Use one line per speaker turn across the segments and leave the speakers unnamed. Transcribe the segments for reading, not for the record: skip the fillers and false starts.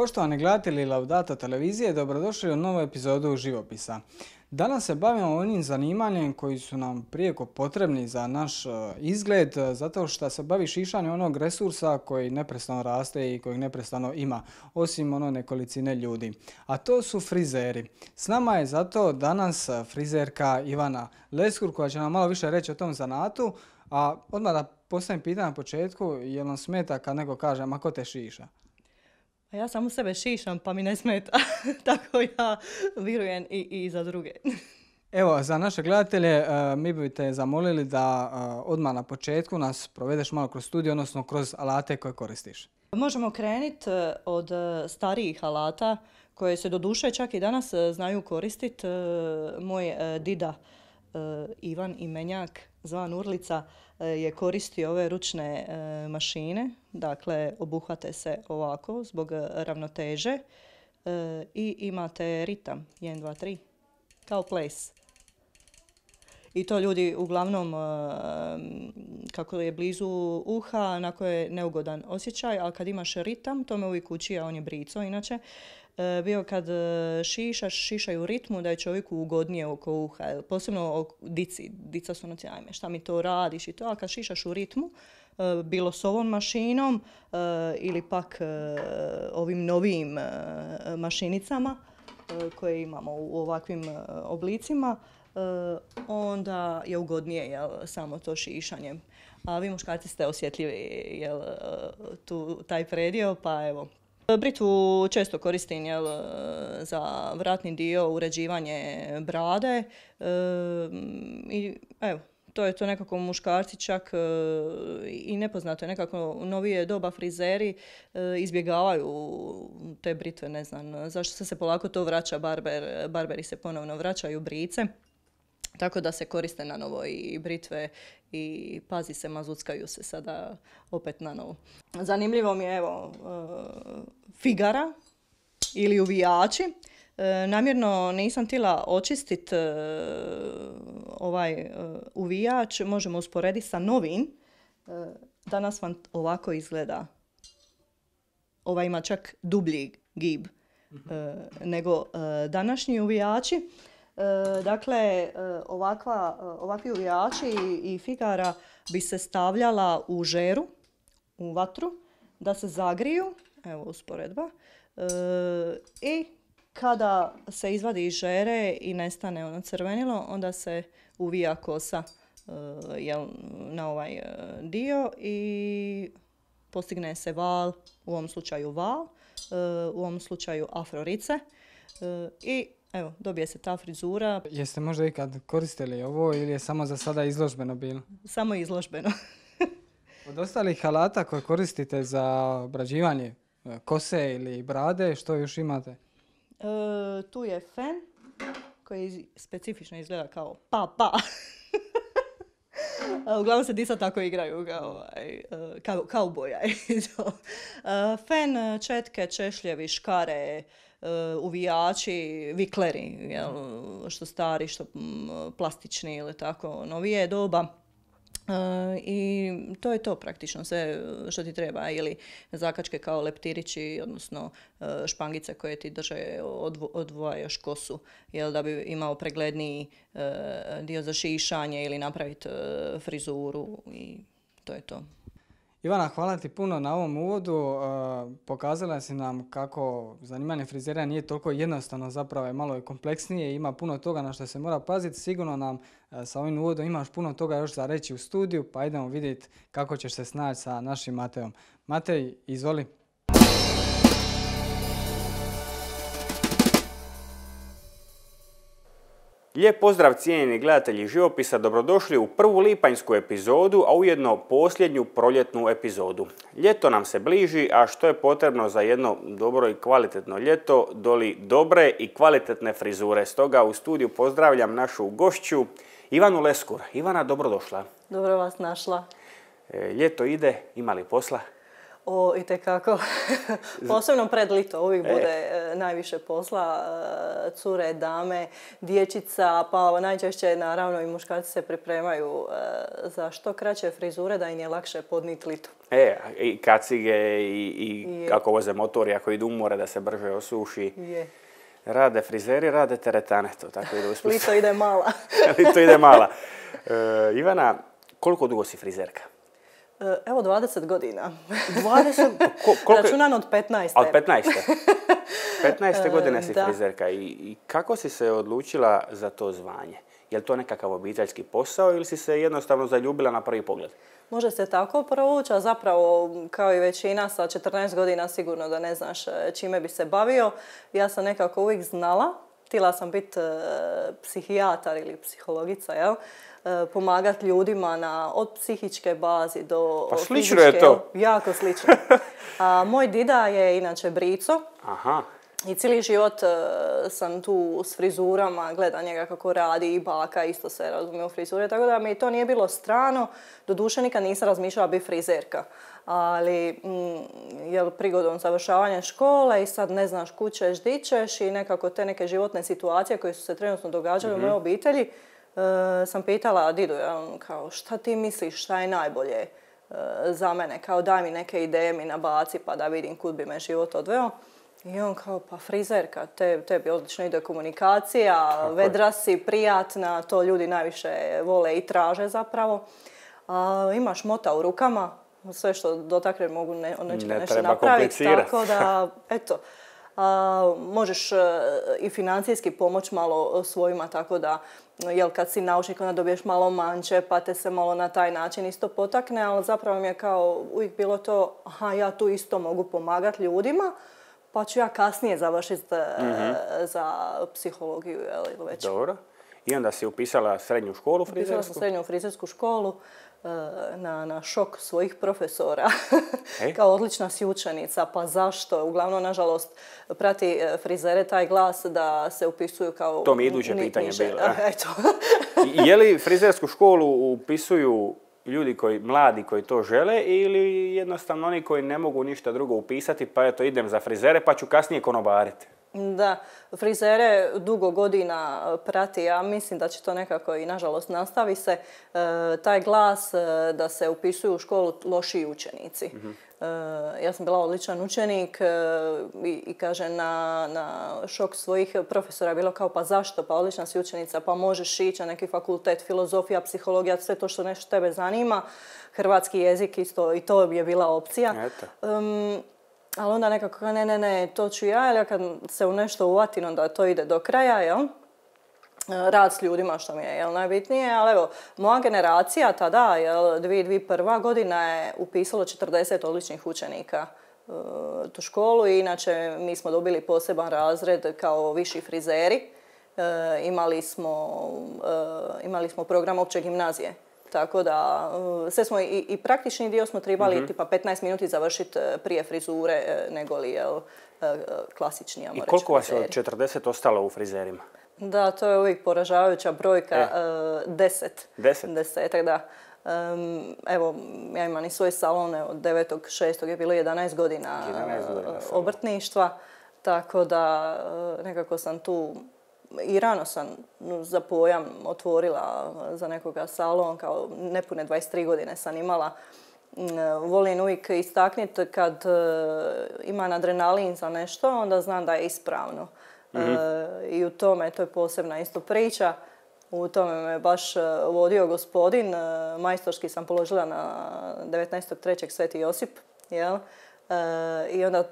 Poštovani gledatelji Laudato televizije, dobrodošli u novu epizodu Živopisa. Danas se bavimo onim zanimanjem koji su nam prijeko potrebni za naš izgled, zato što se bavi šišanjem onog resursa koji neprestano raste i kojeg neprestano ima, osim nekolicine ljudi. A to su frizeri. S nama je zato danas frizerka Ivana Leskur koja će nam malo više reći o tom zanatu, a odmah da postavim pitanje na početku, jel vam smeta kad neko kaže, ma ko te šiša?
A ja samo sebe šišam pa mi ne smeta, tako ja vjerujem i za druge.
Evo, za naše gledatelje mi bi te zamolili da odmah na početku nas provedeš malo kroz studiju, odnosno kroz alate koje koristiš.
Možemo krenuti od starijih alata koje se doduše čak i danas znaju koristiti. Moj dida Ivan Imenjak, zvan Urlica, je koristio ove ručne mašine. Dakle, obuhvate se ovako zbog ravnoteže i imate ritam 1, 2, 3 kao ples. I to ljudi uglavnom, kako je blizu uha, onako je neugodan osjećaj, ali kad imaš ritam, to me uvijek uči, a on je brico inače, bio kad šišaju u ritmu da je čovjeku ugodnije oko uha, posebno dici. Dica su ajme, šta mi to radiš i to, ali kad šišaš u ritmu, bilo s ovom mašinom ili pak ovim novim mašinicama koje imamo u ovakvim oblicima, onda je ugodnije samo to šišanje. A vi muškarci ste osjetljivi taj predio, pa evo. Britvu često koristim za vratni dio, uređivanje brade i evo, to je to nekako muškarci čak i nepoznato je nekako u novije doba frizeri izbjegavaju te britve, ne znam zašto se polako to vraća, barberi se ponovno vraćaju brice. Tako da se koriste na novo i britve i pazi se, mazuckaju se sada opet na novo. Zanimljivo mi je evo figara ili uvijači. Namjerno nisam htjela očistiti ovaj uvijač, možemo usporediti sa novim. Danas vam ovako izgleda. Ovaj ima čak dublji gib nego današnji uvijači. Dakle, ovakvi uvijači i figara bi se stavljala u žeru, u vatru, da se zagriju, evo usporedba, i kada se izvadi iz žere i nestane ono crvenilo, onda se uvija kosa na ovaj dio i postigne se val, u ovom slučaju val, u ovom slučaju afrorice i evo, dobije se ta frizura.
Jeste možda ikad koristili ovo ili je samo za sada izložbeno bilo?
Samo izložbeno.
Od ostalih alata koje koristite za obrađivanje kose ili brade, što još imate?
Tu je fen koji specifično izgleda kao pa. Uglavnom se disa tako igraju kao kauboja. Fen, četke, češljevi, škare, uvijači, vikleri, što stari, što plastični ili tako novije doba. I to je to praktično sve što ti treba, ili zakačke kao leptirići, odnosno špangice koje ti drže, odvojaš kosu, da bi imao pregledniji dio za šišanje ili napraviti frizuru i to je to.
Ivana, hvala ti puno na ovom uvodu. Pokazala si nam kako zanimanje frizera nije toliko jednostavno, zapravo je malo kompleksnije i ima puno toga na što se mora paziti. Sigurno nam sa ovim uvodom imaš puno toga još za reći u studiju, pa idemo vidjeti kako ćeš se snaći sa našim Mateom. Matej, izvoli.
Lijep pozdrav cijenjeni gledatelji Živopisa, dobrodošli u prvu lipanjsku epizodu, a ujedno posljednju proljetnu epizodu. Ljeto nam se bliži, a što je potrebno za jedno dobro i kvalitetno ljeto, doli dobre i kvalitetne frizure. Stoga u studiju pozdravljam našu gošću Ivanu Leskur. Ivana, dobrodošla.
Dobro vas našla.
Ljeto ide, ima li posla?
Itekako. Posebno pred lito uvijek bude najviše posla. Cure, dame, dječica, pa najčešće naravno i muškarci se pripremaju za što kraće frizure da im je lakše podnijeti lito.
I kacige i kako voze motori, ako idu umore da se brže osuši. Rade frizeri, rade teretane, to tako ide usput.
Lito ide mala.
Lito ide mala. Ivana, koliko dugo si frizerka?
Evo 20 godina.
20?
Računan od 15.
Od 15. 15. godine si frizerka. I kako si se odlučila za to zvanje? Je li to nekakav obiteljski posao ili si se jednostavno zaljubila na prvi pogled?
Može se tako provući, a zapravo kao i većina sa 14 godina sigurno da ne znaš čime bi se bavio. Ja sam nekako uvijek znala, htjela sam biti psihijatar ili psihologica, jel? Pomagati ljudima od psihičke bazi do
fizičke. Pa
fizičke,
slično je to.
Jako slično. Moj dida je inače brico.
Aha.
I cijeli život sam tu s frizurama, gledam njega kako radi i baka isto se razumije u frizure, tako da mi to nije bilo strano. Doduše nikad nisam razmišljala biti frizerka. Ali prigodom završavanja škole i sad ne znaš kud ćeš, di ćeš i nekako te neke životne situacije koje su se trenutno događale u mojoj obitelji, sam pitala didu, kao šta ti misliš, šta je najbolje za mene, kao daj mi neke ideje mi nabaci pa da vidim kud bi me život odveo. I on kao, pa frizerka, tebi odlično ide komunikacija, vedra si, prijatna, to ljudi najviše vole i traže zapravo. Imaš mota u rukama, sve što dotakne mogu nešto napraviti, tako da, eto, možeš i financijski pomoć malo svojima, tako da, jel kad si naučnik onda dobiješ malo manče, pa te se malo na taj način isto potakne, ali zapravo mi je kao uvijek bilo to, ja tu isto mogu pomagati ljudima, pa ću ja kasnije završiti za psihologiju ili već.
Dobro. I onda si upisala srednju školu frizersku?
Upisala sam srednju frizersku školu na šok svojih profesora. Kao odlična si učenica, pa zašto? Uglavnom, nažalost, prati frizere taj glas da se upisuju kao...
To mi iduće pitanje bilo.
Eto.
Je li frizersku školu upisuju ljudi mladi koji to žele ili jednostavno oni koji ne mogu ništa drugo upisati pa eto idem za frizere pa ću kasnije konobariti?
Da, frizere dugo godina prati, ja mislim da će to nekako i nažalost nastavi se, taj glas da se upisuju u školu lošiji učenici. Ja sam bila odličan učenik i kažem na šok svojih profesora je bilo kao pa zašto, pa odlična si učenica, pa možeš ići na neki fakultet, filozofija, psihologija, sve to što nešto tebe zanima, hrvatski jezik isto i to je bila opcija. Ali onda nekako ne, to ću ja, jer kad se u nešto uvatim, onda to ide do kraja, jel? Rad s ljudima, što mi je najbitnije, ali evo, moja generacija tada, 2001. godina je upisalo 40 odličnih učenika tu školu i inače mi smo dobili poseban razred kao viši frizeri. Imali smo program opće gimnazije. Tako da, sve smo i praktični dio smo trebali tipa 15 minuti završiti prije frizure nego li klasični,
I koliko vas je od 40 ostalo u frizerima?
Da, to je uvijek poražavajuća brojka, 10. 10, da. Evo, ja imam i svoj salon, od 9.6. je bilo 11 godina obrtništva, tako da nekako sam tu i rano sam za pojam otvorila za nekoga salon, kao nepune 23 godine sam imala. Volim uvijek istaknuti kad imam adrenalin za nešto, onda znam da je ispravno. I u tome, to je posebna isto priča, u tome me baš vodio gospodin. Majstorski sam položila na 19.3. Sveti Josip, jel? I onda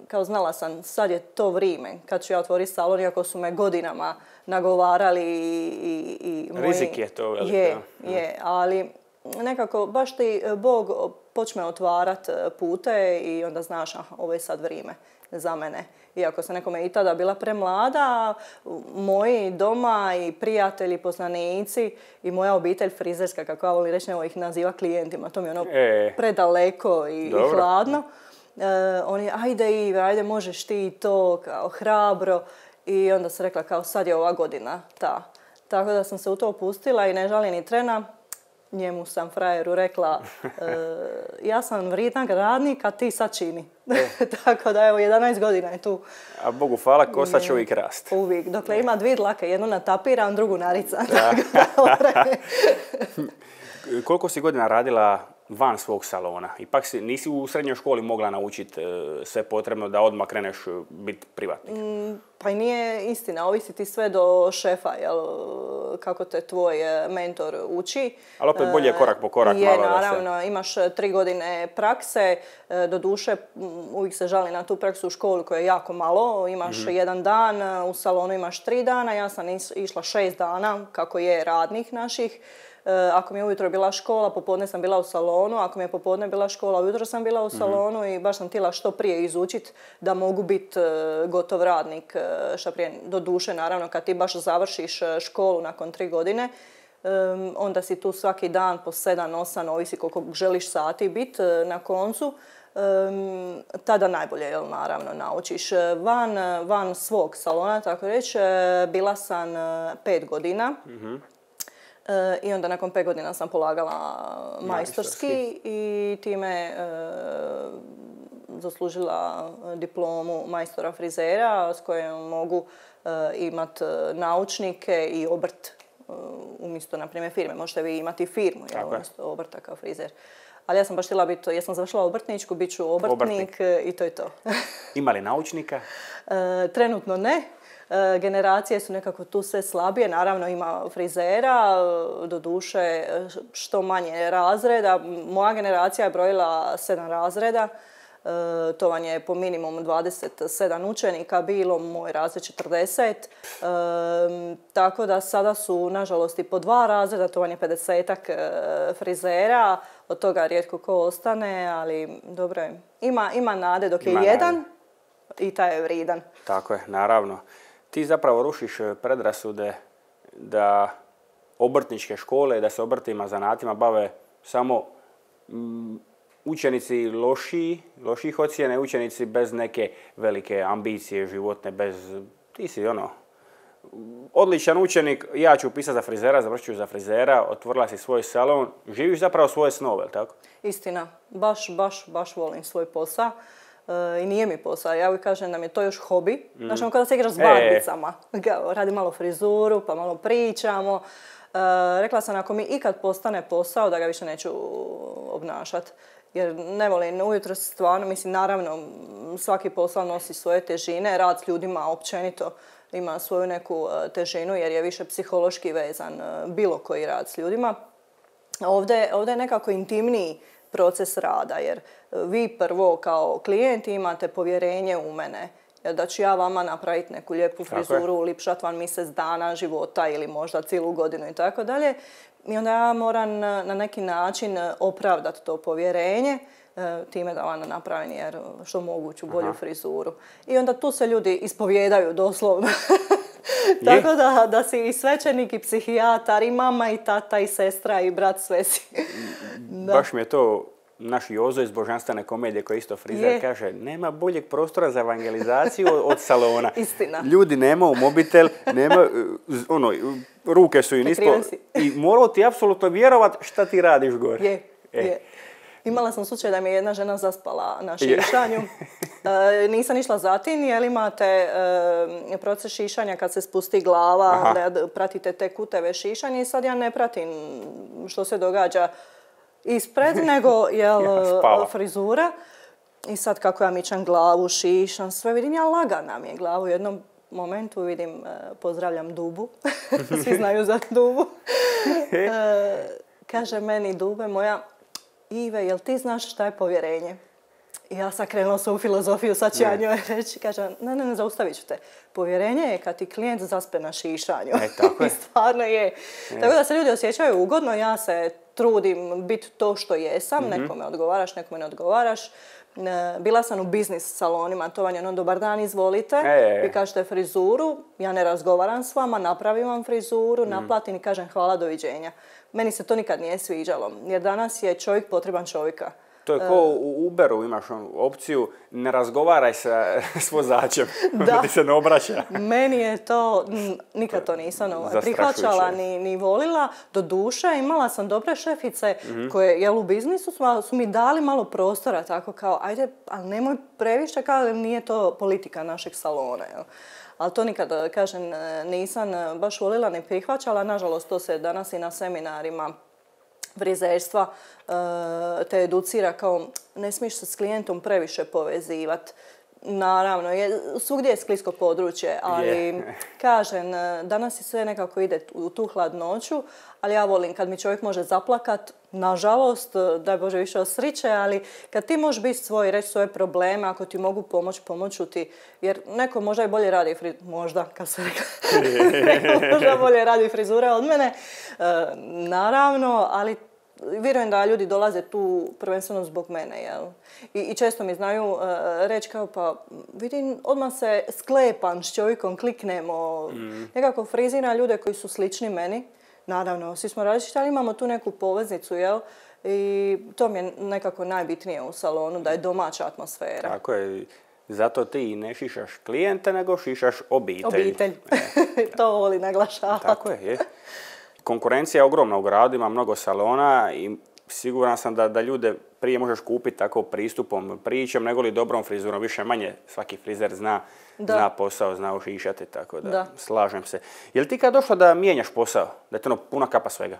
kao znala sam sad je to vrijeme kad ću ja otvoriti salon, iako su me godinama nagovarali i moji...
Rizik je to veliko.
Je, ali nekako baš ti Bog počne otvarat pute i onda znaš ovo je sad vrijeme za mene. Iako sam nekome i tada bila premlada, moji doma i prijatelji, poznanici i moja obitelj frizerska, kako ja volim reći, nego ih naziva klijentima, to mi je predaleko i hladno. Oni, ajde Ive, ajde možeš ti to, kao hrabro. I onda sam rekla kao sad je ova godina ta. Tako da sam se u to opustila i ne žalim ni trena. njemu sam frajeru rekla ja sam vrijedan radnik, a ti sad čini. Tako da evo, 11 godina je tu.
A Bogu hvala, kosa će uvijek rast.
Uvijek. Dokle ima dvije dlake, jednu natapiram, drugu naricam.
Koliko si godina radila van svog salona? Ipak nisi u srednjoj školi mogla naučiti sve potrebno da odmah kreneš biti privatnik.
Pa i nije istina, ovisi ti sve do šefa, jel, kako te tvoj mentor uči.
Ali opet bolje korak po korak.
Je, naravno, imaš 3 godine prakse, doduše uvijek se žali na tu praksu u školi koja je jako malo, imaš 1 dan, u salonu imaš 3 dana, ja sam išla 6 dana, kako je radnih naših. Ako mi je ujutro bila škola, popodne sam bila u salonu, ako mi je popodne bila škola, ujutro sam bila u salonu i baš sam htjela što prije izučiti da mogu biti gotov radnik što prije. Do duše, naravno, kad ti baš završiš školu nakon 3 godine, onda si tu svaki dan po 7-8, ovisi koliko želiš sati biti na koncu. Tada najbolje, jel, naravno, naučiš. Van svog salona, tako reći, bila sam 5 godina. I onda nakon 5 godina sam polagala majstorski i time zaslužila diplomu majstora frizera s kojom mogu imati naučnike i obrt umjesto, na primjer, firme. Možete vi imati firmu, jel, umjesto obrta kao frizer. Ali ja sam baš htjela biti, ja sam završila obrtničku, bit ću obrtnik i to je to.
Ima li naučnika?
Trenutno ne. Generacije su nekako tu sve slabije, naravno ima frizera, doduše što manje razreda. Moja generacija je brojila 7 razreda, to vam je po minimum 27 učenika bilo, moj razred 40. Tako da sada su nažalost i po 2 razreda, to vam je 50-ak frizera, od toga rijetko ko ostane, ali dobro je. Ima nade dok je jedan i taj je vrijedan.
Tako je, naravno. Ti zapravo rušiš predrasude da obrtničke škole, da se obrtima, zanatima bave samo učenici loših ocjene, učenici bez neke velike ambicije životne, ti si odličan učenik, ja ću upisati za frizera, završit ću za frizera, otvorila si svoj salon, živiš zapravo svoje snove, tako?
Istina, baš volim svoj posao. I nije mi posao. Ja uvijek kažem da mi je to još hobi. Znači, kada se igraš s barbicama. Radim malo frizuru, pa malo pričamo. Rekla sam, ako mi ikad postane posao, da ga više neću obnašati. Jer ne volim ujutro stvarno, mislim, naravno, svaki posao nosi svoje težine. Rad s ljudima općenito ima svoju neku težinu, jer je više psihološki vezan bilo koji rad s ljudima. Ovdje je nekako intimniji proces rada, jer vi prvo kao klijenti imate povjerenje u mene, jer da ću ja vama napraviti neku lijepu frizuru, ulipšat vam mjesec dana života ili možda cijelu godinu i tako dalje. I onda ja moram na neki način opravdati to povjerenje time da vam napravim jer što moguću bolju frizuru. I onda tu se ljudi ispovijedaju doslovno. Tako da si i svećenik i psihijatar i mama i tata i sestra i brat, sve si.
Baš mi je to naš Jozo iz Božanstvene komedije koji je isto frizer kaže nema boljeg prostora za evangelizaciju od salona.
Istina.
Ljudi nemaju mobitel, ruke su im ispod i morao ti apsolutno vjerovat šta ti radiš gore.
Je. Imala sam slučaj da mi je jedna žena zaspala na šišanju. Nisam išla za tim, jer imate proces šišanja kad se spusti glava, da pratite te kuteve šišanja i sad ja ne pratim što se događa ispred, nego frizura. I sad kako ja mičam glavu, šišam, sve vidim, ja lagana mi je glavu. U jednom momentu vidim, pozdravljam Dubu, svi znaju za Dubu. Kaže meni Dube moja, Ive, jel ti znaš šta je povjerenje? I ja sam krenula svoju filozofiju, sad ću ja njoj reći. Kaže, ne, zaustavit ću te. Povjerenje je kad ti klijent zaspe na šišanju.
Tako je.
I stvarno je. Tako da se ljudi osjećaju ugodno, ja se trudim biti to što jesam. Nekome odgovaraš, nekome ne odgovaraš. Bila sam u biznis salonima, to vam je dobar dan, izvolite. Vi kažete frizuru, ja ne razgovaram s vama, napravim vam frizuru, naplatim i kažem hvala, doviđenja. Meni se to nikad nije sviđalo, jer danas je čovjek potreban čovjeka.
To je ko u Uberu, imaš opciju ne razgovaraj s vozačem, da ti se ne obraća.
Meni je to, nikad to nisam prihvaćala ni volila. Do duše imala sam dobre šefice koje u biznisu su mi dali malo prostora, tako kao ajde, ali nemoj previše, kao nije to politika našeg salona. Jel? Ali to nikad, kažem, nisam baš volila ni prihvaćala. Nažalost, to se danas i na seminarima frizerstva te educira kao ne smiješ se s klijentom previše povezivati. Naravno, svugdje je sklisko područje, ali kažem, danas i sve nekako ide u tu hladnoću, ali ja volim kad mi čovjek može zaplakat, nažalost, daj Bože više osriće, ali kad ti možeš biti svoj, reći svoje probleme, ako ti mogu pomoću ti, jer neko možda i bolje radi možda, kad se rekla, možda bolje radi frizure od mene, naravno, ali vjerujem da ljudi dolaze tu prvenstveno zbog mene, jel? I često mi znaju reći kao pa vidim, odmah se sklepam s čovjekom, kliknemo, nekako frizira ljude koji su slični meni. Naravno, svi smo različiti, ali imamo tu neku poveznicu, jel? I to mi je nekako najbitnije u salonu, da je domaća atmosfera.
Tako je. Zato ti ne šišaš klijente, nego šišaš obitelj.
Obitelj. To voli naglašavati.
Tako je. Konkurencija je ogromna u gradu, ima mnogo salona i siguran sam da ljude prije možeš kupiti tako pristupom, pričom, nego li dobrom frizurom. Više manje svaki frizer zna posao, zna ošišati, tako da slažem se. Je li ti kad došlo da mijenjaš posao? Da je to puna kapa svega?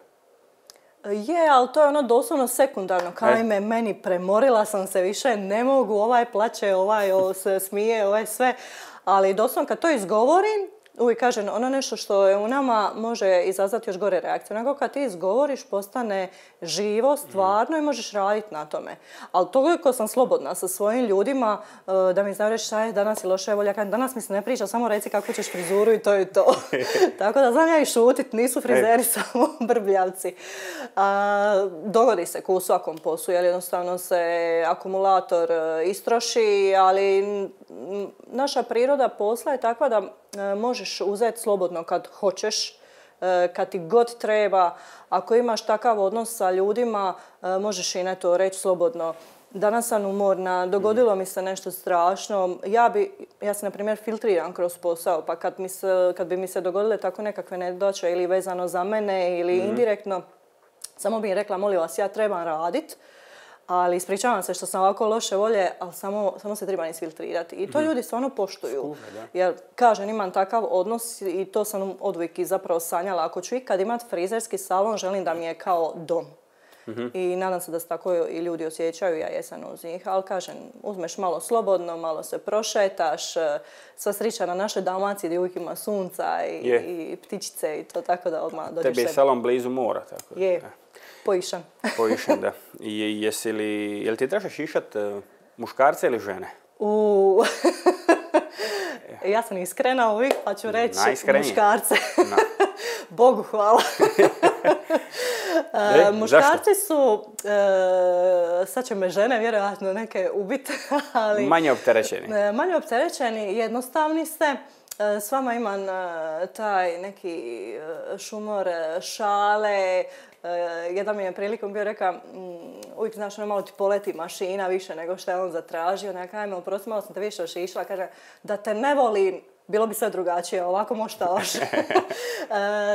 Je, ali to je doslovno sekundarno. Ajme, meni premorila sam se više, ne mogu, ovaj plaće, ovaj se smije, ovaj sve. Ali doslovno kad to izgovorim, uvijek kažem, nešto što je u nama može izazvati još gore reakciju. Nego kad ti izgovoriš, postane živo, stvarno i možeš raditi na tome. Ali toliko sam slobodna sa svojim ljudima da mi znaju reći šta je danas i loše, volja. Danas mi se ne priča, samo reci kako ćeš frizuru i to je to. Tako da znam ja i šutit, nisu frizeri samo brbljavci. Dogodi se u svakom poslu, jer jednostavno se akumulator istroši, ali naša priroda posla je takva da možeš uzeti slobodno kad hoćeš, kad ti god treba. Ako imaš takav odnos sa ljudima, možeš i to reći slobodno. Danas sam umorna, dogodilo mi se nešto strašno. Ja se, na primjer, filtriram kroz posao, pa kad bi mi se dogodile tako nekakve nedaće ili vezano za mene ili indirektno, samo bih rekla, molim vas, ja trebam radit, ali ispričavam se što sam ovako loše volje, ali samo se treba isfiltrirati. I to ljudi stvarno poštuju. Jer, kažem, imam takav odnos i to sam oduvijek i zapravo sanjala. Ako ću ikad imati frizerski salon, želim da mi je kao dom. I nadam se da se tako i ljudi osjećaju, ja jesam uz njih. Ali kažem, uzmeš malo slobodno, malo se prošetaš, sva srića na našoj Dalmaciji gdje uvijek ima sunca i ptičice i to, tako da odmah dođeš.
Tebi je salon blizu mora, tako.
Je. Poišan.
Poišan, da. Jel ti trebaš šišat muškarce ili žene?
Ja sam iskrena uvijek, pa ću reći muškarce. Bogu hvala. Muškarci su, sad će me žene vjerojatno neke ubiti, ali...
Manje opterećeni.
Manje opterećeni, jednostavni ste. S vama imam taj neki šumor, šale. Jedan mi je prilikom bio rekao, uvijek znaš, malo ti poleti mašina više nego što je on zatražio. Ja kažem, oprosti, malo sam te više ošišla. Kaže, da te ne volim, bilo bi sve drugačije, ovako moštaš.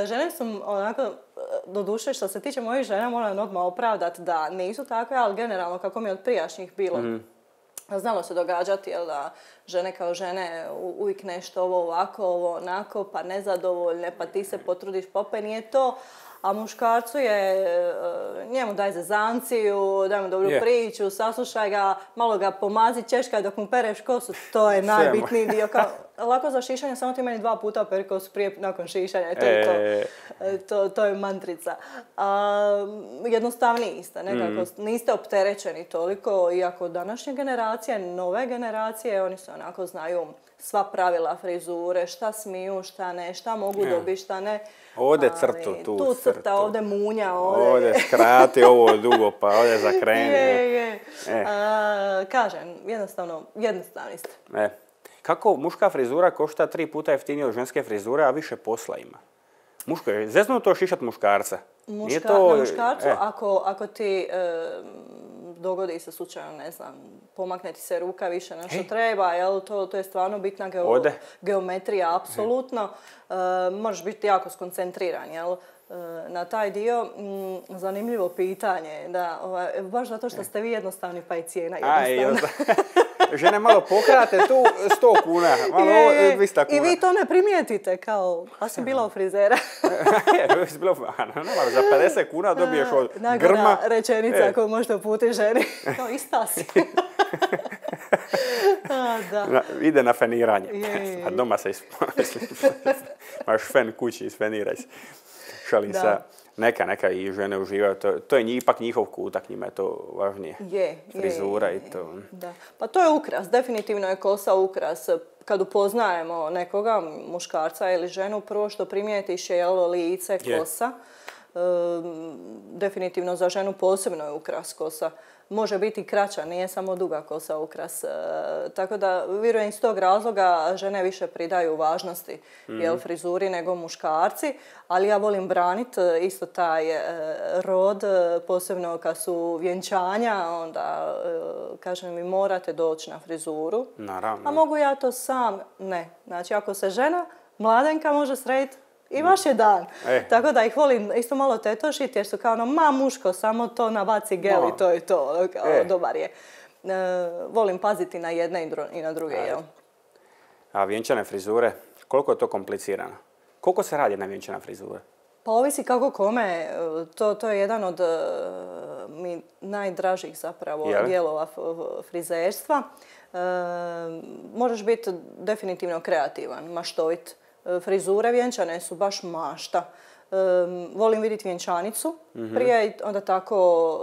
Žene su onako, doduše, što se tiče mojih žena, moram odmah opravdati da nisu takve, ali generalno kako mi je od prijašnjih bilo. Znalo se događati, jel da žene kao žene uvijek nešto ovo ovako, ovo onako, pa nezadovoljne, pa ti se potrudiš, pa nije to. A muškarcu je, njemu daj zezanciju, daj mu dobru priču, saslušaj ga, malo ga pomazi, češkaj dok mu pereš kosu, to je najbitniji dio. Lako za šišanje, samo ti meni 2 puta peri kosu prije nakon šišanja i to je to. To je mantrica. Jednostavniji ste, nekako, niste opterećeni toliko, iako današnje generacije, nove generacije, oni se onako znaju sva pravila frizure, šta smiju, šta ne, šta mogu dobiti, šta ne.
Ovdje crtu, tu
crta, ovdje munja,
ovdje skrati, ovo dugo, pa ovdje zakreni.
Kažem, jednostavni ste.
Kako muška frizura košta 3 puta jeftinije od ženske frizure, a više posla ima? Muško je zeznuto šišat muškarca.
Na muškarcu, ako ti dogodi se slučajno, ne znam, pomakne ti se ruka više na što treba, jel, to je stvarno bitna geometrija, apsolutno. Možeš biti jako skoncentriran, jel, na taj dio. Zanimljivo pitanje, da, baš zato što ste vi jednostavni pa i cijena jednostavna.
Žene malo pokrate tu 100 kuna, malo 200 kuna.
I vi to ne primijetite kao, a si bila u frizera.
Za 50 kuna dobiješ od grma.
Najgora rečenica koju možete uputiti ženi. Kao ista si.
Ide na feniranje. A doma se imaš fen kući, isfeniraj se. Šalim se. Neka i žene uživaju. To je ipak njihov kutak, njima je to važnije. Frizura i to.
Da. Pa to je ukras, definitivno je kosa ukras. Kad upoznajemo nekoga, muškarca ili ženu, prvo što primijetiš je lice, kosa. Definitivno za ženu posebno je ukras kosa. Može biti kraća, nije samo duga kosa ukras. Tako da, vjerujem iz tog razloga žene više pridaju važnosti frizuri nego muškarci, ali ja volim braniti isto taj rod, posebno kad su vjenčanja, onda kažem mi morate doći na frizuru.
Naravno.
A mogu ja to sam? Ne. Znači, ako se žena mladenka može srediti, i vaš je dan. Tako da ih volim isto malo tetošiti jer su kao muško, samo to nabaci gel i to je to. Dobar je. Volim paziti na jedne i na druge.
A vjenčane frizure, koliko je to komplicirano? Koliko se radi na vjenčana frizura?
Pa ovisi kako kome. To je jedan od mi najdražih zapravo dijelova frizerstva. Možeš biti definitivno kreativan, maštovit. Frizure vjenčane su baš mašta. Volim vidjeti vjenčanicu prije, onda tako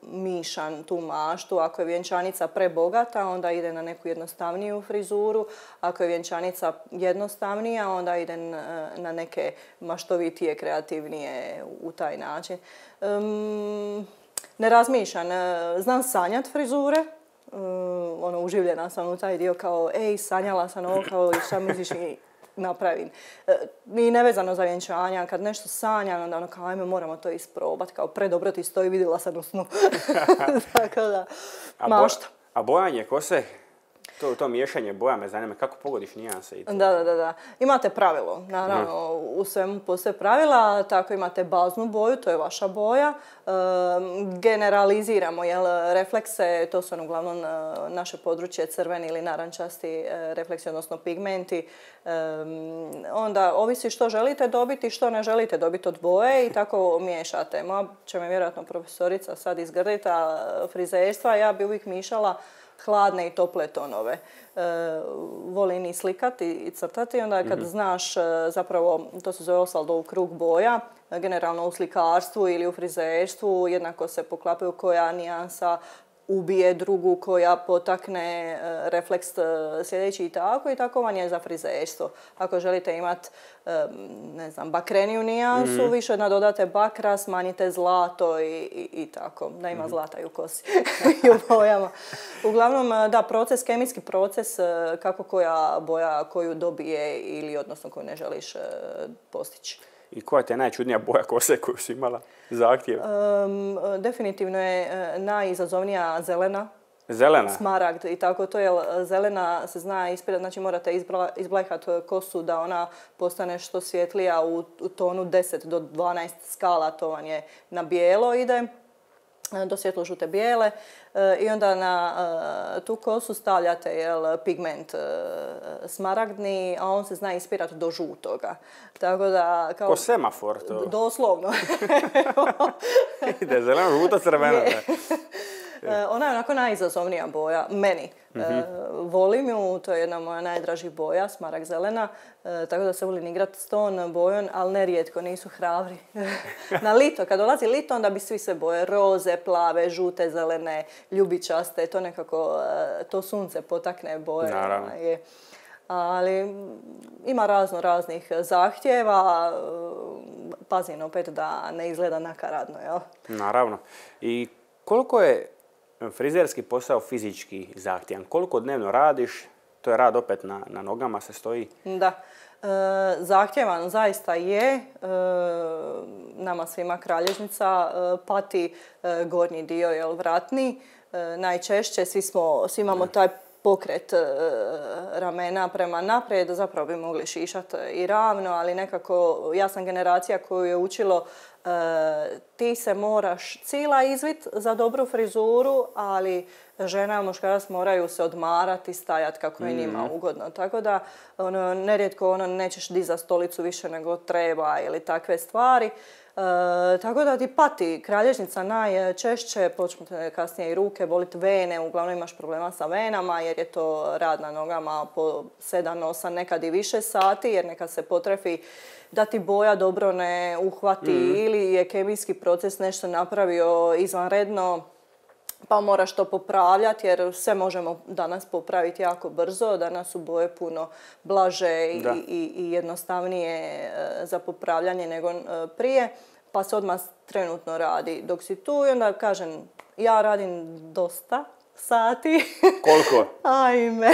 mišam tu maštu. Ako je vjenčanica prebogata, onda ide na neku jednostavniju frizuru. Ako je vjenčanica jednostavnija, onda ide na neke maštovitije, kreativnije u taj način. Ne razmišljam. Znam sanjat frizure. Uživljena sam u taj dio kao, sanjala sam ovo, kao šta misliš i napravim. I nevezano za vjenčanja, kad nešto sanjam, onda kao ajme moramo to isprobati, kao predobro ti stoji, vidjela sam u snu. Tako da, mašta.
A bojanje kose? To miješanje boja me zanima, kako pogodiš nijanse i to?
Da. Imate pravilo, naravno, u svemu postoje pravila, tako imate baznu boju, to je vaša boja. Generaliziramo, reflekse, to su uglavnom naše područje crveni ili narančasti refleksi, odnosno pigmenti. Onda ovisi što želite dobiti, što ne želite dobiti od boje i tako miješate. Moja će me vjerojatno profesorica sad izgrditi, frizerstva, ja bi uvijek mišala hladne i tople tonove. Volim i slikati i crtati, onda kad znaš zapravo, to se zove Osvaldov krug boja, generalno u slikarstvu ili u frizerstvu jednako se poklapaju koja nijansa ubije drugu, koja potakne refleks sljedeći i tako vam je za frizerstvo. Ako želite imati, bakreniju nijansu, više nadodate bakra, smanjite zlato i tako, da ima zlata i u kosi i u bojama. Uglavnom, kemijski proces kako koja boja koju dobije ili odnosno koju ne želiš postići.
I koja ti je najčudnija boja kose koju si imala zahtjev?
Definitivno je najizazovnija zelena.
Zelena?
Smaragd i tako to je. Zelena se zna ispirati, znači morate izblejhati kosu da ona postane što svjetlija u tonu 10 do 12 skala, to vam je na bijelo ide. Do svjetlo-žute bijele i onda na tu kosu stavljate pigment smaragdni, a on se zna ispirati do žutoga. Tako da, kao,
ko semafor to?
Doslovno.
Ide zeleno, žuto, crveno.
Ona je onako najizazovnija boja, meni. Volim ju, to je jedna moja najdražih boja, smaragd zelena, tako da se volim igrati s tom bojom, ali nerijetko, nisu hrabri. Na lito, kad dolazi lito, onda bi svi se boje, roze, plave, žute, zelene, ljubičaste, to nekako, to sunce potakne boje.
Naravno.
Ali ima raznih zahtjeva, pazim opet da ne izgleda nakaradno, jel?
Naravno. I koliko je frizerski posao fizički zahtjevan? Koliko dnevno radiš? To je rad opet na nogama se stoji.
Da. Zahtjevan zaista je. Nama svima kralježnica pati gornji dio, vratni. najčešće. Svi imamo taj pokret ramena prema naprijed, zapravo bi mogli šišati i ravno, ali nekako ja sam generacija koju je učilo ti se moraš cila izvit za dobru frizuru, ali žena i muškarac moraju se odmarati, stajati kako je njima ugodno. Tako da nerijetko nećeš dizati stolicu više nego treba ili takve stvari. Tako da ti pati kralježnica najčešće, počnu te kasnije i ruke, boliti vene, uglavnom imaš problema sa venama jer je to rad na nogama po 7, 8, nekad i više sati jer nekad se potrefi da ti boja dobro ne uhvati ili je kemijski proces nešto napravio izvanredno pa moraš to popravljati jer sve možemo danas popraviti jako brzo. Danas su boje puno blaže i jednostavnije za popravljanje nego prije. Pa se odmah trenutno radi dok si tu i onda kažem ja radim dosta sati.
Koliko?
Ajme,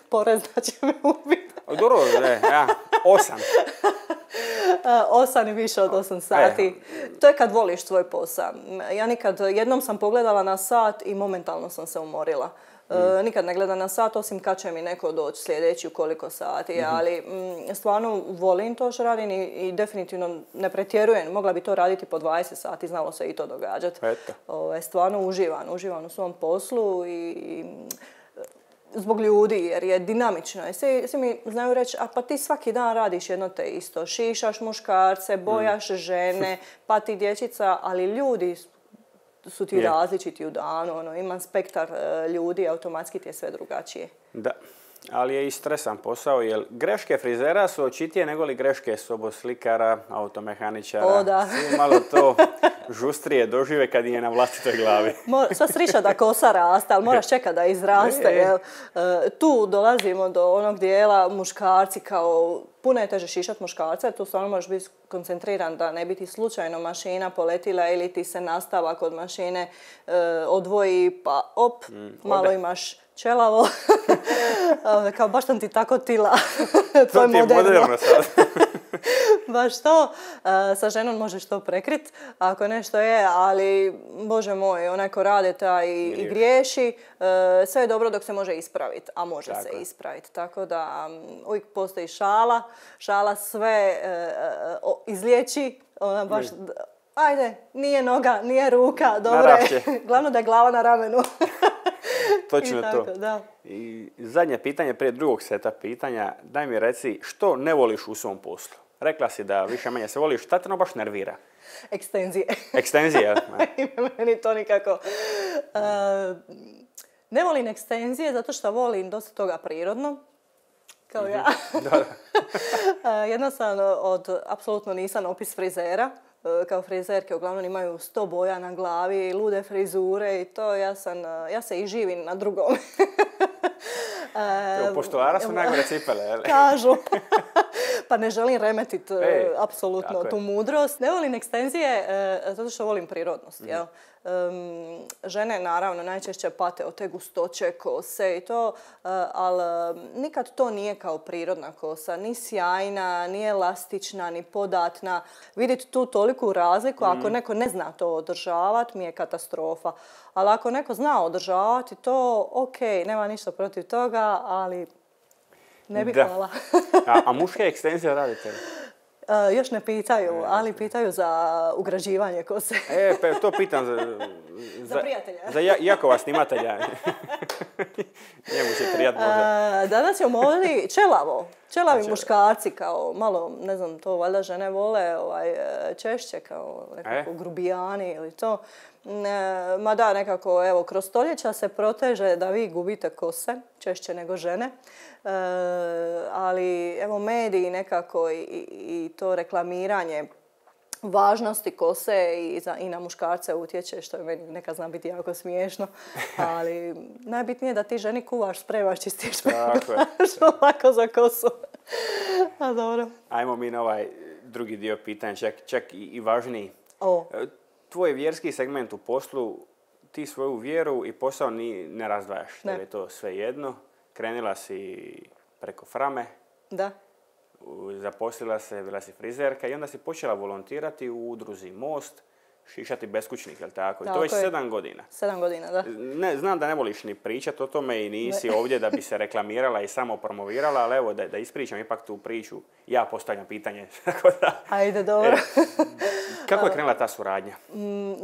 porezna će me ubiti.
Dobro, ja, 8.
8 i više od 8 sati. To je kad voliš tvoj posao. Ja jednom sam pogledala na sat i momentalno sam se umorila. Nikad ne gledam na sat, osim kad će mi neko doći sljedeći u koliko sati, ali stvarno volim to što radim i definitivno ne pretjerujem. Mogla bi to raditi po 20 sati, znalo se i to događati. Stvarno uživam u svom poslu i zbog ljudi jer je dinamično. Svi mi znaju reći, a pa ti svaki dan radiš jedno te isto. Šišaš muškarce, bojaš žene, pa ti dječica, ali ljudi su ti različiti u danu. Ima spektar ljudi, automatski ti je sve drugačije.
Da, ali je i stresan posao, jer greške frizera su očitije nego li greške soboslikara, automehaničara.
O, da.
Svi malo to žustrije dožive kad je na vlastitoj glavi.
Sva srića da kosa raste, ali moraš čekati da izraste. Jel? Tu dolazimo do onog dijela muškarci kao puno je teže šišati muškarca, tu stvarno možeš biti koncentriran da ne bi ti slučajno mašina poletila ili ti se nastavak od mašine odvoji pa malo imaš čelavo. Kao baš sam ti tako tila.
To ti je moderno sad.
Baš to. Sa ženom možeš to prekrit, ako nešto je, ali Bože moj, onaj ko rade taj i griješi, sve je dobro dok se može ispraviti, a može se ispraviti. Tako da uvijek postoji šala sve izliječi, ona baš, ajde, nije noga, nije ruka, dobro je. Glavno da je glava na ramenu.
Točno
tako,
to.
Da.
I zadnje pitanje prije drugog seta pitanja. Daj mi reci što ne voliš u svom poslu? Rekla si da više manje se voliš. Šta te no baš nervira?
Ekstenzije.
Ekstenzije?
Meni to nikako. Ne volim ekstenzije zato što volim dosta toga prirodno. Kao ja. Jednostavno, apsolutno nisam opis frizera. Kao frizerke uglavnom imaju 100 boja na glavi, lude frizure i to ja se i živim na drugom.
Postolara su najgore cipele, jel?
Kažu. Pa ne želim remetiti apsolutno tu mudrost. Ne volim ekstenzije zato što volim prirodnost. Jel? Žene naravno najčešće pate od te gustoće kose i to, ali nikad to nije kao prirodna kosa. Ni sjajna, ni elastična, ni podatna. Vidjeti tu toliku razliku, ako neko ne zna to održavati, mi je katastrofa. Ali ako neko zna održavati to, ok, nema ništa protiv toga, ali ne bi hvala.
A muške ekstenzije radite li?
Još ne pitaju, ali pitaju za ugrađivanje kose.
Pa to pitam
za prijatelja.
Za Jakova snimatelja. Njemu će prijat možda.
Danas ćemo ovdje čelavi muškarci kao malo, ne znam, to valjda žene vole češće kao nekako grubijani ili to. Ma da, nekako, evo, kroz stoljeća se proteže da vi gubite kose, češće nego žene. Ali, evo, mediji nekako i to reklamiranje važnosti kose i na muškarce utječe, što je meni nekad zna biti jako smiješno. Ali najbitnije je da ti ženi kuvaš, spremaš, čistiš, što lako za kosu. A dobro.
Ajmo mi na ovaj drugi dio pitanja, čak i važniji. Tvoj vjerski segment u poslu, ti svoju vjeru i posao ne razdvajaš. Ne. Jer je to sve jedno. Krenila si preko Frame.
Da.
Zaposlila se, bila si frizerka i onda si počela volontirati u udruzi Most šišati beskućnik, jel tako? I to
Tako
već
je.
7 godina.
7 godina, da.
Ne, znam da ne voliš ni pričati o tome i nisi ovdje da bi se reklamirala i samo promovirala, ali evo da ispričam ipak tu priču. Ja postavljam pitanje. Tako da,
Ajde, dobro.
kako je krenula ta suradnja?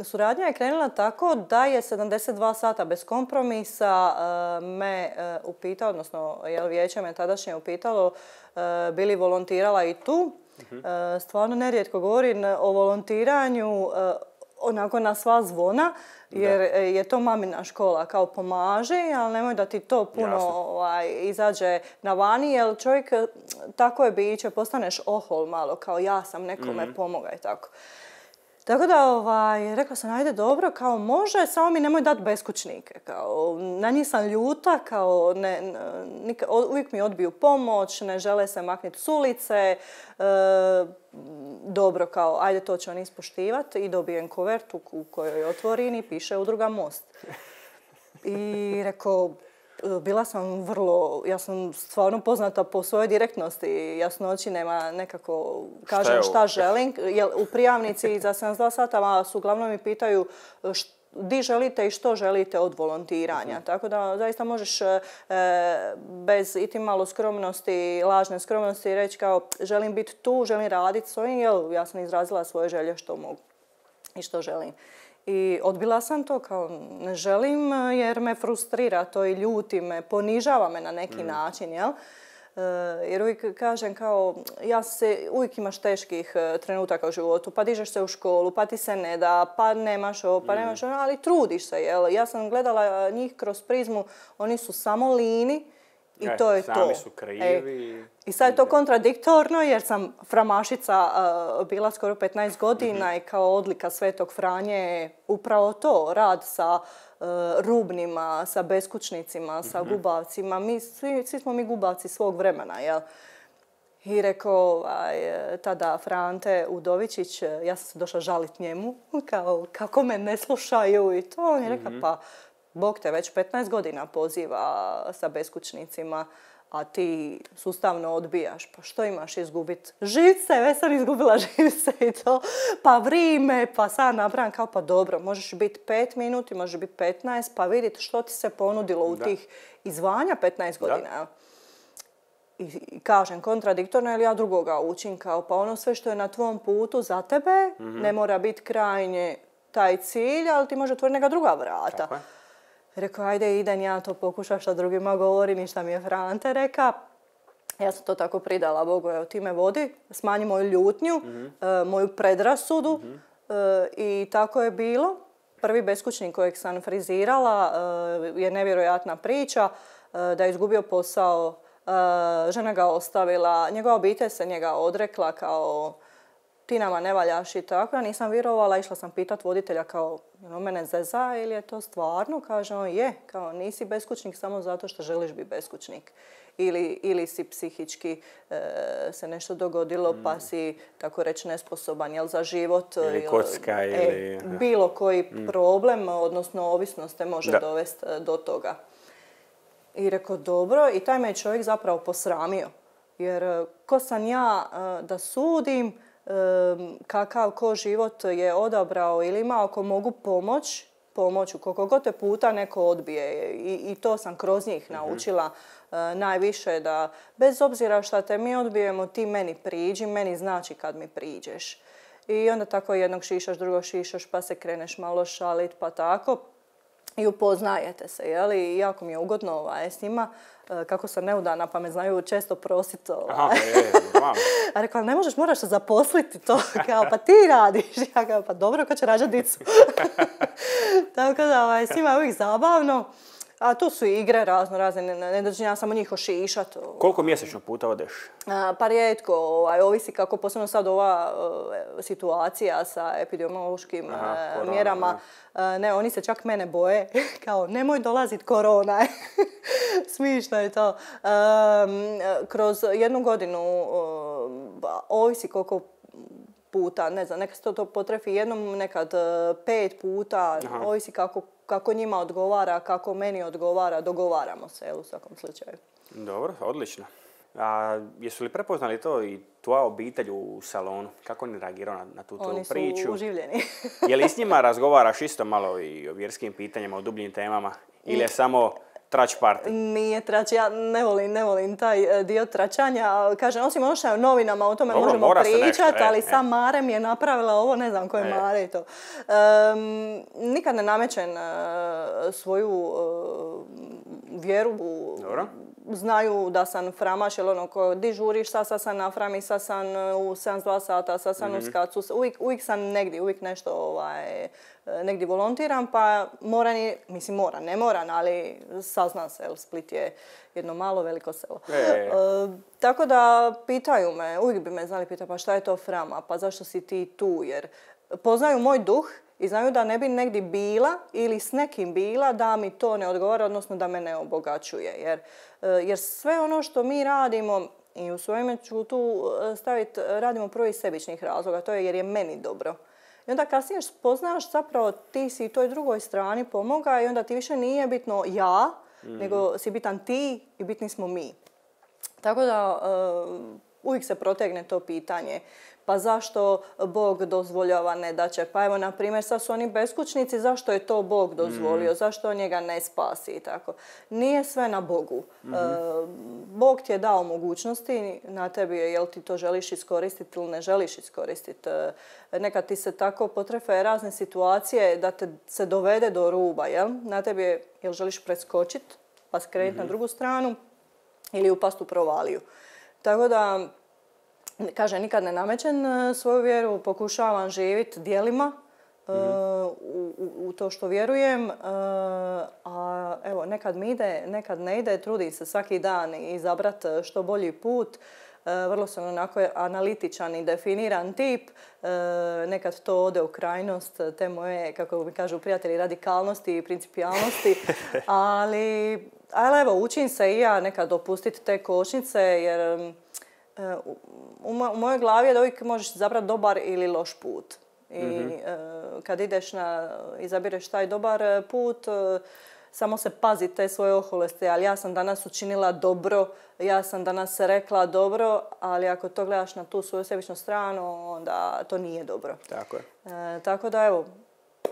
Suradnja je krenula tako da je 72 sata bez kompromisa me upitao, odnosno vijeće me tadašnje upitalo bi li volontirala i tu. Stvarno nerijetko govorim o volontiranju onako na sva zvona, jer je to mamina škola, kao pomaži, ali nemoj da ti to puno izađe na vani, jer čovjek tako je biće, postaneš ohol malo, kao ja sam nekome pomogao i tako. Tako da rekla sam, ajde dobro, kao može, samo mi nemoj dati beskućnike. Kao, na njih sam ljuta, kao uvijek mi odbiju pomoć, ne žele se maknuti s ulice. Dobro, kao ajde to će oni ispoštivati i dobijem kuvertu u kojoj otvorini piše Udruga Most. I rekao, bila sam ja sam stvarno poznata po svojoj direktnosti, jasnoći, nema nekako, kažem šta želim. Jer u prijavnici za 72 sata su uglavnom mi pitaju di želite i što želite od volontiranja. Tako da zaista možeš bez iti malo skromnosti, lažne skromnosti reći kao želim biti tu, želim raditi s ovim, jer ja sam izrazila svoje želje što mogu i što želim. I odbila sam to, kao ne želim jer me frustrira to i ljuti me, ponižava me na neki način, jel? Jer uvijek kažem kao, uvijek imaš teških trenutaka u životu, pa dižeš se u školu, pa ti se ne da, pa nemaš ovo, pa nemaš ono, ali trudiš se, jel? Ja sam gledala njih kroz prizmu, oni su samo lini i to je to.
Sami su krivi.
I sad je to kontradiktorno jer sam framašica bila skoro 15 godina i kao odlika Svetog Franje je upravo to, rad sa rubnima, sa beskućnicima, sa gubavcima. Svi smo mi gubavci svog vremena, jel? I rekao tada Frante Udovičić, ja sam se došla žaliti njemu, kao kako me ne slušaju i to. On je rekao, pa Bog te već 15 godina poziva sa beskućnicima, a ti sustavno odbijaš. Pa što imaš izgubiti? Živce, već sam izgubila živce i to. Pa vrime, pa sad napravim kao pa dobro. Možeš biti 5 minuti, možeš biti 15, pa vidjeti što ti se ponudilo u tih izvanja 15 godina. I kažem kontradiktorno, jer ja drugoga učim kao pa ono sve što je na tvom putu za tebe ne mora biti krajnje taj cilj, ali ti može otvoriti neka druga vrata.
Tako je.
Rekao, ajde idem ja to pokušam šta drugima govorim i šta mi je Frante reka. Ja sam to tako pridala Bogu, evo ti me vodi, smanji moju ljutnju, moju predrasudu i tako je bilo. Prvi beskućnik kojeg sam frizirala je nevjerojatna priča, da je izgubio posao, žena ga ostavila, njegova obitelj se njega odrekla kao ti nama ne valjaš i tako. Ja nisam vjerovala, išla sam pitat voditelja kao mene zeza ili je to stvarno? Kaže on je, kao nisi beskućnik samo zato što želiš biti beskućnik. Ili si psihički se nešto dogodilo pa si tako reći nesposoban jel, za život.
Ili kocka ili...
Bilo koji problem, odnosno ovisnost te može dovesti do toga. I rekao dobro i taj me čovjek zapravo posramio. Jer ko sam ja da sudim kakav ko život je odabrao ili imao ako mogu pomoću koliko god te puta neko odbije i to sam kroz njih naučila najviše da bez obzira šta te mi odbijemo ti meni priđi, meni znači kad mi priđeš. I onda tako jednog šišaš, drugog šišaš pa se kreneš malo šalit pa tako i upoznajete se, jel? I jako mi je ugodno s njima. Kako sam neudana pa me znaju često prositi. A rekla, ne možeš, moraš se zaposliti to. Kao, pa ti radiš. Ja kao, pa dobro, ko će rađati dicu. Tako da s njima je uvijek zabavno. A tu su igre razne, ne dođem ja samo njih ošišat.
Koliko mjesečno puta odeš?
Pa rijetko, ovisi kako posebno sad ova situacija sa epidemiološkim mjerama. Ne, oni se čak mene boje, kao nemoj dolazit korona. Smišno je to. Kroz jednu godinu, ovisi koliko puta, ne znam, nekad se to potrefi jednom, nekad 5 puta, ovisi kako njima odgovara, kako meni odgovara, dogovaramo se u svakom slučaju.
Dobro, odlično. A jesu li prepoznali to i tvoja obitelj u salonu? Kako oni reagiraju na tu tvoju priču?
Oni su uživljeni.
Je li s njima razgovaraš isto malo i o vjerskim pitanjima, o dubljim temama? Ili je samo trač party?
Nije trač, ja ne volim taj dio tračanja. Kažem, osim ono što je u novinama, o tome
Dobro,
možemo
mora se
pričati,
nešto,
ali sam Mare mi je napravila ovo, ne znam ko je Mare i to. Nikad ne namećem svoju vjeru.
Dobro.
Znaju da sam framaš, jer ono ko di žuriš, sad sam na frami, sad sam u 72 sata, sad sam u skacu, uvijek sam negdje, uvijek nešto negdje volontiram, pa ne moram, ali saznam se, Split je jedno malo veliko selo. Tako da pitaju me, uvijek bi me znali pitati, pa šta je to frama, pa zašto si ti tu, jer poznaju moj duh i znaju da ne bi negdje bila ili s nekim bila da mi to ne odgovara, odnosno da me ne obogaćuje. Jer sve ono što mi radimo, i u svojime ću tu staviti, radimo prvo iz sebičnih razloga, to je jer je meni dobro. I onda kasnije spoznaš zapravo ti si toj drugoj strani pomoga i onda ti više nije bitno ja, nego si bitan ti i bitni smo mi. Tako da uvijek se protegne to pitanje. Pa zašto Bog dozvoljava nedaće? Pa evo, na primjer, sad su oni beskućnici, zašto je to Bog dozvolio? Zašto on njega ne spasi i tako? Nije sve na Bogu. Bog ti je dao mogućnosti, na tebi je jel ti to želiš iskoristiti ili ne želiš iskoristiti. Nekad ti se tako potrefe razne situacije da te se dovede do ruba, jel? Na tebi je jel želiš preskočiti pa skrenuti na drugu stranu ili upast u provaliju. Tako da, kažem, nikad ne namećem svoju vjeru, pokušavam živjeti djelima u to što vjerujem, a evo, nekad mi ide, nekad ne ide, trudim se svaki dan izabrati što bolji put. Vrlo sam onako analitičan i definiran tip, nekad to ode u krajnost, te moje, kako mi kažu prijatelji, radikalnosti i principijalnosti, ali evo, učim se i ja nekad dopustiti te kočnice, jer u mojoj glavi je da uvijek možeš izabrati dobar ili loš put. I kad izabireš taj dobar put, samo se pazi te svoje oholosti, ali ja sam danas učinila dobro, ja sam danas rekla dobro, ali ako to gledaš na tu svoju sebičnu stranu, onda to nije dobro.
Tako je.
Tako da evo,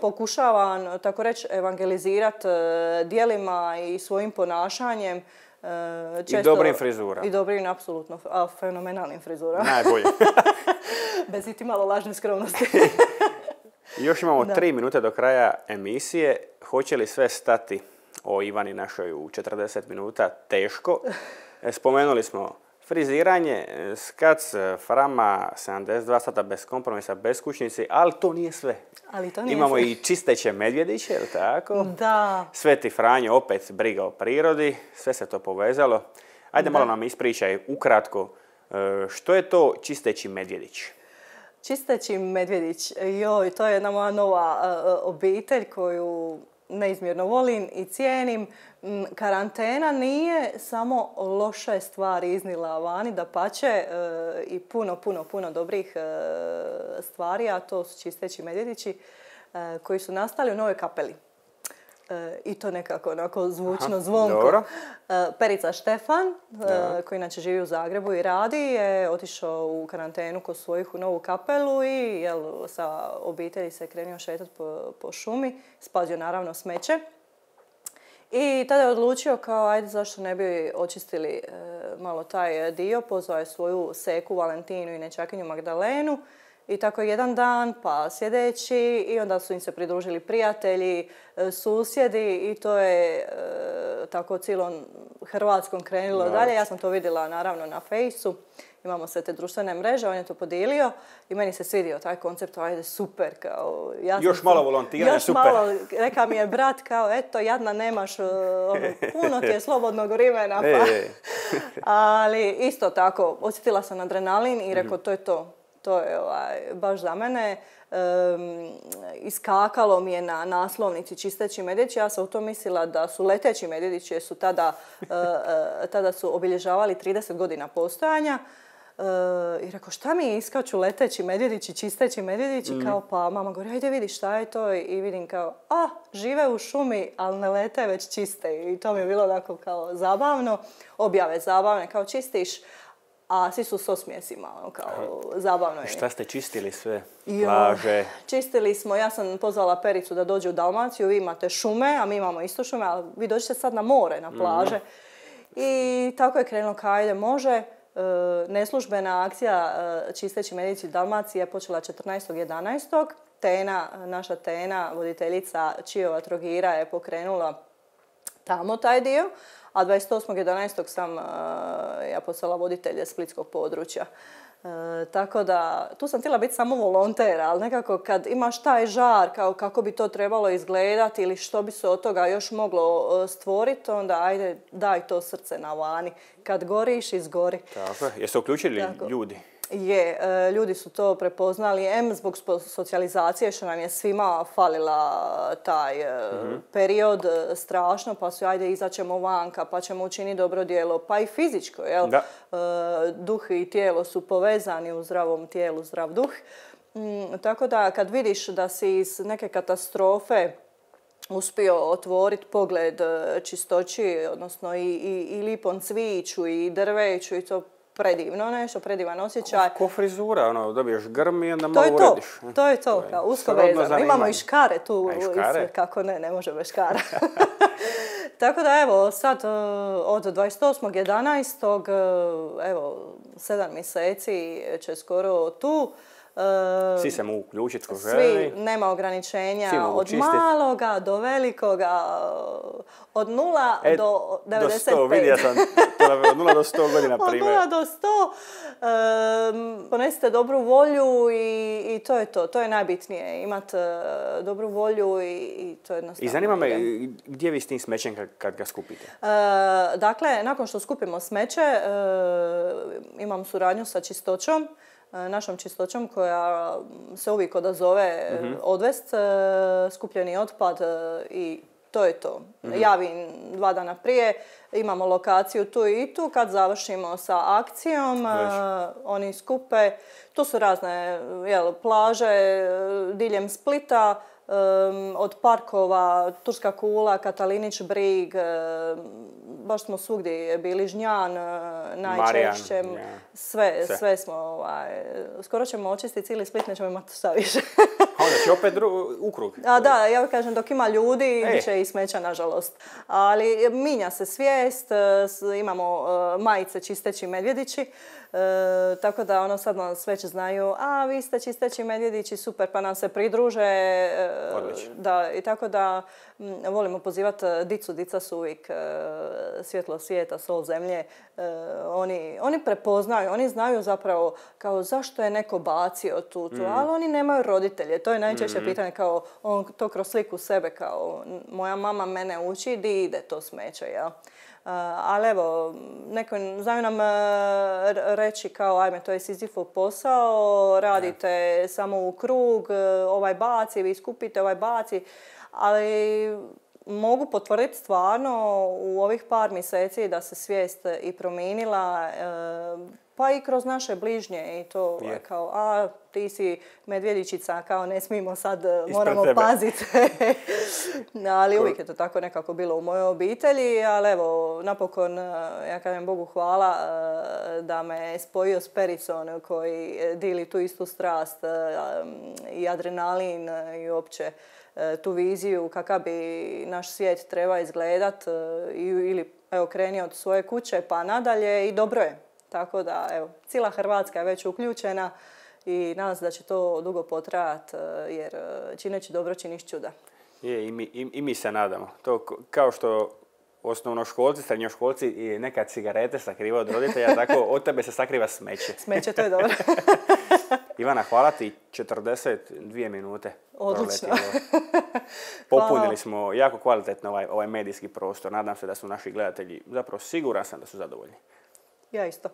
pokušavam, tako reći, evangelizirati djelima i svojim ponašanjem.
I dobrim frizurama.
I dobrim, apsolutno, fenomenalnim frizurama.
Najbolje.
Bez iti malo lažne skromnosti.
Još imamo 3 minute do kraja emisije. Hoće li sve stati o Ivani našoj u 40 minuta? Teško. Spomenuli smo friziranje, skac, frama, 72 sata bez kompromisa, beskućnici, ali to nije sve. Imamo i čisteće medvjediće, jel tako?
Da.
Sveti Franjo, opet briga o prirodi, sve se to povezalo. Ajde malo nam ispričaj ukratko, što je to čisteći medvjedić?
Čisteći medvjedić, to je jedna moja nova obitelj koju neizmjerno volim i cijenim. Karantena nije samo loše stvari iznila vani, dapače, i puno dobrih stvari, a to su čisteći medvjedići koji su nastali u Novoj Kapeli. I to nekako onako zvučno, zvonko.
Dobro.
Perica Štefan, koji inače živi u Zagrebu i radi, je otišao u karantenu kod svojih u Novu Kapelu i sa obitelji se krenio šetati po šumi, spazio naravno smeće. I tada je odlučio kao, ajde, zašto ne bi očistili malo taj dio, pozvao je svoju seku Valentinu i nećakinju Magdalenu. I tako jedan dan, pa sljedeći, i onda su im se pridružili prijatelji, susjedi i to je tako cijelom Hrvatskom krenulo dalje. Ja sam to vidjela naravno na Fejsu, imamo sve te društvene mreže, on je to podijelio i meni se svidio taj koncept, ajde super. Kao,
još malo volontiranja, super.
Još malo, reka mi je brat, kao eto jadna nemaš, puno ti je slobodnog vremena. Pa. Ali isto tako, osjetila sam adrenalin i rekao to je to. To je baš za mene. Iskakalo mi je na naslovnici čisteći medvjedići. Ja sam u to mislila da su leteći medvjedići jer su tada su obilježavali 30 godina postojanja. I rekao, šta mi iskaču leteći medvjedići, čisteći medvjedići, kao pa mama govori, ajde vidi šta je to i vidim kao, žive u šumi, ali ne lete, već čiste. I to mi je bilo onako kao zabavno, objave zabavne, kao čistiš, a svi su s osmijesima, kao zabavno je.
Šta ste čistili sve? Plaže?
Čistili smo, ja sam pozvala Pericu da dođe u Dalmaciju, vi imate šume, a mi imamo isto šume, ali vi dođete sad na more, na plaže. I tako je krenulo, kao ajde može. Neslužbena akcija čisteći medvjedići Dalmacije je počela 14.11. Tena, naša Tena, voditeljica Čiova Trogira je pokrenula tamo taj dio, a 28.11. sam ja postala voditelj splitskog područja. Tako da, tu sam htjela biti samo volonter, ali nekako kad imaš taj žar, kao kako bi to trebalo izgledati ili što bi se od toga još moglo stvoriti, onda ajde daj to srce na vani. Kad goriš, izgori.
Tako je. Jeste uključili ljudi?
Je, ljudi su to prepoznali, zbog socijalizacije što nam je svima falila taj period strašno, pa su ajde izaćemo vanka, pa ćemo učiniti dobro djelo, pa i fizičko, jel? Da. Duh i tijelo su povezani, u zdravom tijelu zdrav duh. Tako da kad vidiš da si iz neke katastrofe uspio otvoriti pogled čistoći, odnosno i lipom cviću i drveću i to predivno nešto, predivan osjećaj.
Ko frizura, dobiješ grm i onda malo urediš.
To je to, kao usko vezano. Imamo i škare tu, kako ne može bez škara. Tako da evo, sad od 28.11. evo, 7 mjeseci će skoro tu.
Svi se mogu uključiti ko želi.
Svi, nema ograničenja od maloga do velikoga, od 0 do 95.
Do 100, vidio sam, od 0 do 100 godina primjer.
Od 0 do 100, ponesite dobru volju i to je to. To je najbitnije, imati dobru volju i to je jednostavno.
I zanima me, gdje vi s tim smećem kad ga skupite?
Dakle, nakon što skupimo smeće, imam suradnju sa Čistoćom, našom Čistoćom koja se uvijek odazove odvest skupljeni otpad i to je to. Javim 2 dana prije, imamo lokaciju tu i tu, kad završimo sa akcijom, oni skupe, tu su razne plaže diljem Splita, od parkova, Turska kula, Katalinić brig, baš smo svugdje bili, Žnjan najčešće, sve smo, skoro ćemo očistiti cijeli Split, nećemo imati šta više.
Onda će opet ukrug.
Da, ja kažem dok ima ljudi, bit će i smeća nažalost. Ali minja se svijest, imamo majice čisteći medvjedići, tako da sad nas već znaju, vi ste čisteći medvjedići, super, pa nam se pridruže. Da, i tako da volimo pozivati dicu, dica su uvijek svjetlo svijeta, sol zemlje. Oni prepoznaju, oni znaju zapravo kao zašto je neko bacio tu, ali oni nemaju roditelje. To je najčešće pitanje, kao on to kroz sliku sebe, kao moja mama mene uči, di ide to smeće, jel? Ali evo, neko znaju nam reći kao ajme, to je Sizifov posao, radite samo u krug, ovaj baci, vi skupite, ovaj baci, ali mogu potvrditi stvarno u ovih par mjeseci da se svijest i promijenila, pa i kroz naše bližnje i to je kao, ti si medvjedičica, kao ne smijemo sad, moramo paziti. Ali uvijek je to tako nekako bilo u mojoj obitelji, ali evo, napokon, ja kažem Bogu hvala da me spojio s Pericom koji dili tu istu strast i adrenalin i uopće tu viziju kakav bi naš svijet treba izgledat ili evo kreni od svoje kuće pa nadalje i dobro je. Tako da evo, cijela Hrvatska je već uključena i nadam se da će to dugo potrajati jer čineći dobro činiš čuda.
Je, i mi se nadamo. To kao što osnovnoškolci, srednjoškolci i nekad cigarete sakriva od roditelja, tako od tebe se sakriva smeće.
Smeće, to je dobro.
Ivana, hvala ti, 42 minute.
Odlično.
Popunili smo jako kvalitetno ovaj medijski prostor. Nadam se da su naši gledatelji, zapravo siguran sam da su zadovoljni.
Ja isto.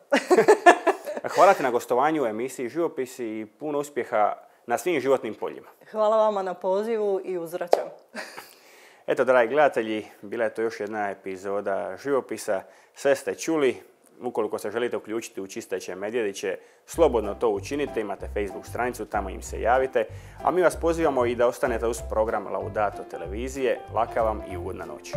Hvala ti na gostovanju u emisiji Živopisi i puno uspjeha na svim životnim poljima.
Hvala vama na pozivu i uzvraćam.
Eto, dragi gledatelji, bila je to još jedna epizoda Živopisa. Sve ste čuli. Ukoliko se želite uključiti u Čistaće Medvjediće, slobodno to učinite, imate Facebook stranicu, tamo im se javite, a mi vas pozivamo i da ostanete uz program Laudato televizije. Laka vam i ugodna noć.